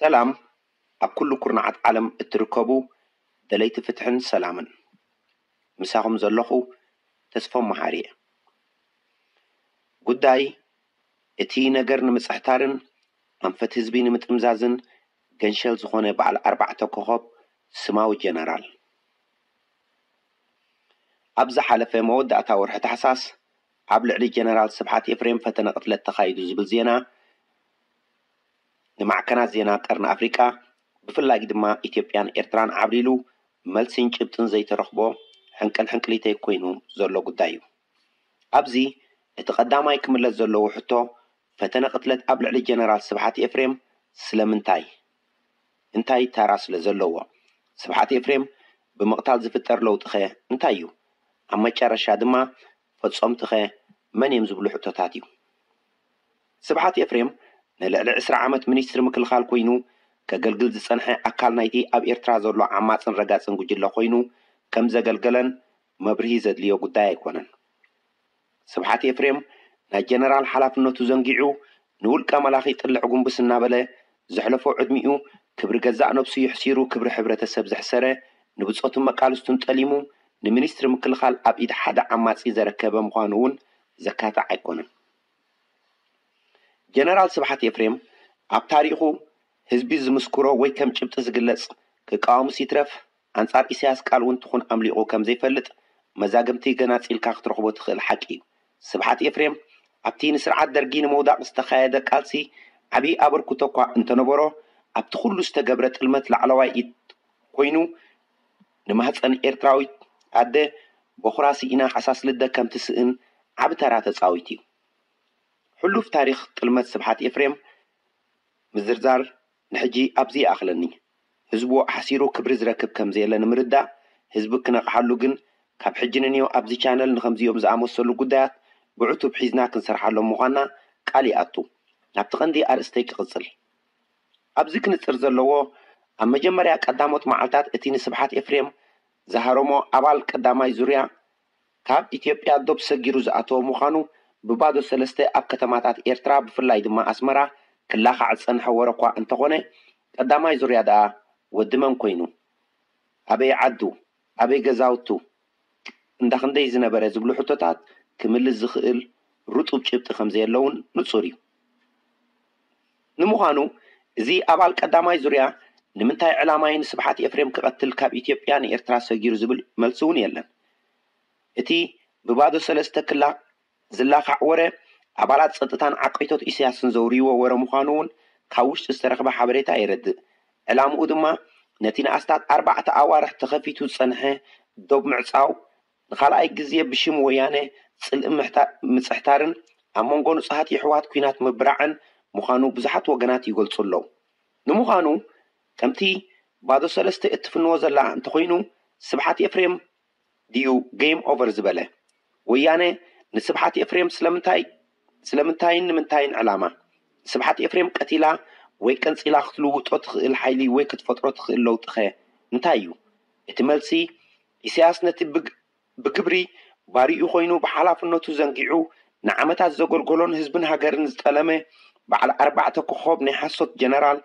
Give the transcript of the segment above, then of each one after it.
ሰላም ኣብ ኩሉ ኩርናዓት ዓለም እትርከቡ ደለይቲ ፍትሕን ሰላምን። ምሳኹም ዘለኹ ተስፎም መሓሪ እየ። ጉዳይ እቲ ነገር ንምጽሕታርን ኣንፈት ህዝቢ ንምጥምዛዝን ገንሸል ዝኾነ በዓል ኣርባዕተ ኮኸብ ስማዊ ጀነራል። ኣብ ዝሓለፈ መወዳእታ ወርሒ ታሕሳስ ኣብ ልዕሊ ጀነራል ስብሓት ኤፍሬም ፈተነ ቅትለት ተኻይዱ ዝብል ዜና ንማዕከናት ዜና ቀርኒ ኣፍሪቃ ብፍላይ ድማ ኢትዮጵያን ኤርትራን ዓብሊሉ መልሲን ጭብጥን ዘይተረኽቦ ሕንቅል ሕንቅሊተይ ኮይኑ ዘሎ ጉዳይ እዩ። ኣብዚ እቲ ቀዳማይ ክምለስ ዘለዎ ሕቶ ፈተነ ቅትለት ኣብ ልዕሊ ጀነራል ስብሓት ኤፍሬም ስለምንታይ? እንታይ ታራ ስለ ዘለዎ? ስብሓት ኤፍሬም ብምቕታል ዝፍጠር ለውጢኸ እንታይ እዩ? ኣብ መጨረሻ ድማ ፈጸምትኸ መን እዮም ዝብሉ ሕቶታት እዩ። ስብሓት ኤፍሬም ንልዕሊ ዕስራ ዓመት ሚኒስትሪ ምክልኻል ኮይኑ ከገልግል ዝጸንሐ ኣካል ናይቲ ኣብ ኤርትራ ዘሎ ዓማጽን ረጋጽን ጉጅለ ኮይኑ ከም ዘገልገለን መብርሂ ዘድልዮ ጉዳይ ኣይኮነን። ስብሓት ኤፍሬም ናይ ጀነራል ሓላፍነቱ ዘንጊዑ ንውልቀ መላኺ ጥልዕ ጉንብስ እናበለ ዘሕለፎ ዕድሚኡ ክብሪ ገዛእ ነብሱ የሕሲሩ ክብሪ ሕብረተሰብ ዘሕሰረ ንብጾቱን መቃልስቱን ጠሊሙ ንሚኒስትሪ ምክልኻል ኣብ ኢድ ሓደ ዓማጺ ዘረከበ ምዃኑ እውን ዘካትዕ ኣይኮነን። ጀነራል ስብሓት ኤፍሬም ኣብ ታሪኹ ህዝቢ ዝምስክሮ ወይ ከም ጭብጢ ዝግለጽ ክቃወምስ ይትረፍ ኣንጻር ኢሳያስ ቃል እውን ትኹን ኣምሊቑ ከም ዘይፈልጥ መዛግብቲ ገናጺልካ ክትረኽቦ ትኽእል ሓቂ እዩ። ስብሓት ኤፍሬም ኣብቲ ንስርዓት ደርጊ ንምውዳቕ ዝተኻየደ ቃልሲ ዓብዪ ኣበርክቶ እኳ እንተነበሮ ኣብቲ ኩሉ ዝተገብረ ጥልመት ላዕለዋይ ኢድ ኮይኑ ንማህፀን ኤርትራዊት ኣደ በኹራ ስኢና ሓሳስ ልደ ከም ትስእን ዓቢ ተራ ተጻዊቱ እዩ። ሕሉፍ ታሪኽ ጥልመት ስብሓት ኤፍሬም ምዝርዛር ንሕጂ ኣብዚ ይኣኽለኒ። ህዝቡ ኣሕሲሩ ክብሪ ዝረክብ ከም ዘየለ ንምርዳእ ህዝቢ ክነቕሓሉ ግን ካብ ሕጂ ንንዮ ኣብዚ ቻነል ንኸምዚኦም ዝኣመሰሉ ጉዳያት ብዕቱብ ሒዝና ክንሰርሓሎም ምዃንና ቃል ይኣቱ። ናብቲ ቀንዲ ኣርእስተይ ክቕጽል። ኣብዚ ክንጽር ዘለዎ ኣብ መጀመርያ ቀዳሞት መዓልታት እቲ ንስብሓት ኤፍሬም ዝሃረሞ ኣባል ቀዳማይ ዙርያ ካብ ኢትዮጵያ ዶብ ሰጊሩ ዝኣተወ ምዃኑ ብባዶ ሰለስተ ኣብ ከተማታት ኤርትራ ብፍላይ ድማ ኣስመራ ክላኻዕ ዝጸንሐ ወረ እኳ እንተኾነ ቀዳማይ ዙርያ ደኣ ወዲ መን ኮይኑ ኣበይ ዓዱ ኣበይ ገዛውቱ እንዳ ክንደይ ዝነበረ ዝብሉ ሕቶታት ክምልስ ዝኽእል ርጡብ ጭብጢ ከም ዘየለውን ንጹር እዩ። ንምዃኑ እዚ ኣባል ቀዳማይ ዙርያ ንምንታይ ዕላማይ ንስብሓት ኤፍሬም ክቐትል ካብ ኢትዮጵያ ንኤርትራ ሰጊሩ ዝብል መልሲ እውን የለን። እቲ ብባዶ ሰለስተ ክላ ዝላኻዕ ወረ ኣባላት ጸጥታን ዓቀይቶት ኢሳያስን ዘውርይዎ ወረ ምዃኑ እውን ካብ ውሽጢ ዝተረኽበ ሓበሬታ የረድእ። ዕላምኡ ድማ ነቲ ንኣስታት ኣርባዕተ ኣዋርሕ ተኸፊቱ ዝጸንሐ ዶብ ምዕጻው ንኻልኣይ ግዜ ብሽም ወያነ ጽልኢ ምጽሕታርን ኣብ መንጎ ንጹሃት የሕዋት ኲናት ምብራዕን ምዃኑ ብዙሓት ወገናት ይገልጹ ኣለዉ። ንምዃኑ ከምቲ ባዶ ሰለስተ እትፍንዎ ዘላ እንተኾይኑ ስብሓት ኤፍሬም ድዩ game over ዝበለ? ወያነ ንስብሓት ኤፍሬም ስለምንታይ ስለምንታይን ንምንታይን ዕላማ ንስብሓት ኤፍሬም ቀቲላ ወይ ቀንጺላ ክትልውጦ ትኽእል ሓይሊ ወይ ክትፈጥሮ ትኽእል ለውጢኸ እንታይ እዩ? እቲ መልሲ ኢሳያስ ነቲ ብግ ብግብሪ ባሪኡ ኮይኑ ብሓላፍነቱ ዘንጊዑ ንዓመታት ዘገልገሎን ህዝብን ሃገርን ዝጠለመ በዓል ኣርባዕተ ኮኾብ ናይ ሓሶት ጀነራል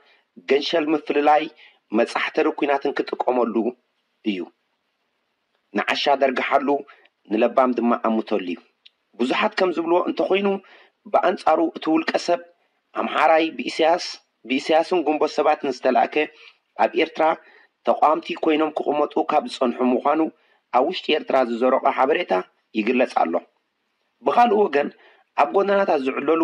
ገንሸል ምፍልላይ መጻሕተሪ ኲናትን ክጥቀመሉ እዩ። ንዓሻ ደርግሓሉ ንለባም ድማ ኣምተሉ እዩ። ብዙሓት ከም ዝብልዎ እንተኾይኑ ብኣንጻሩ እቲ ውልቀ ሰብ ኣምሓራይ ብኢሳያስ ብኢሳያስን ጉንቦት ሰባትን ዝተላእከ ኣብ ኤርትራ ተቓወምቲ ኮይኖም ክቕመጡ ካብ ዝጸንሑ ምዃኑ ኣብ ውሽጢ ኤርትራ ዝዘረቖ ሓበሬታ ይግለጽ ኣሎ። ብኻልእ ወገን ኣብ ጎደናታት ዝዕለሉ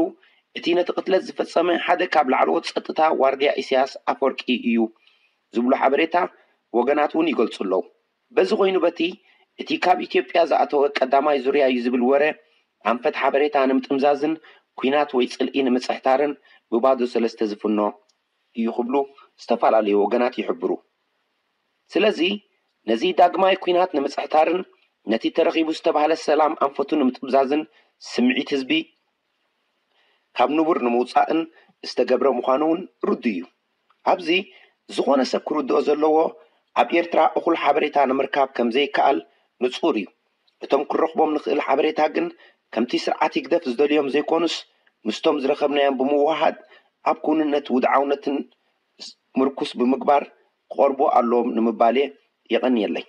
እቲ ነቲ ቅትለት ዝፈጸመ ሓደ ካብ ላዕለዎት ጸጥታ ዋርድያ ኢሳያስ ኣፈወርቂ እዩ ዝብሉ ሓበሬታ ወገናት እውን ይገልጹ ኣለዉ። በዚ ኮይኑ በቲ እቲ ካብ ኢትዮጵያ ዝኣተወ ቀዳማይ ዙርያ እዩ ዝብል ወረ ኣንፈት ሓበሬታ ንምጥምዛዝን ኲናት ወይ ጽልኢ ንምጽሕታርን ብባዶ ሰለስተ ዝፍኖ እዩ ክብሉ ዝተፈላለዩ ወገናት ይሕብሩ። ስለዚ ነዚ ዳግማይ ኲናት ንምጽሕታርን ነቲ ተረኺቡ ዝተባህለ ሰላም ኣንፈቱ ንምጥምዛዝን ስምዒት ህዝቢ ካብ ንቡር ንምውጻእን ዝተገብረ ምዃኑ እውን ርዱእ እዩ። ኣብዚ ዝኾነ ሰብ ክርድኦ ዘለዎ ኣብ ኤርትራ እኹል ሓበሬታ ንምርካብ ከም ዘይከኣል ንጹር እዩ። እቶም ክረኽቦም ንኽእል ሓበሬታ ግን ከምቲ ስርዓት ህግደፍ ዝደልዮም ዘይኮኑስ ምስቶም ዝረኸብናዮም ብምውህሃድ ኣብ ክውንነት ውድዓውነትን ምርኩስ ብምግባር ክቐርቡ ኣለዎም ንምባል እየ። የቐንየለይ።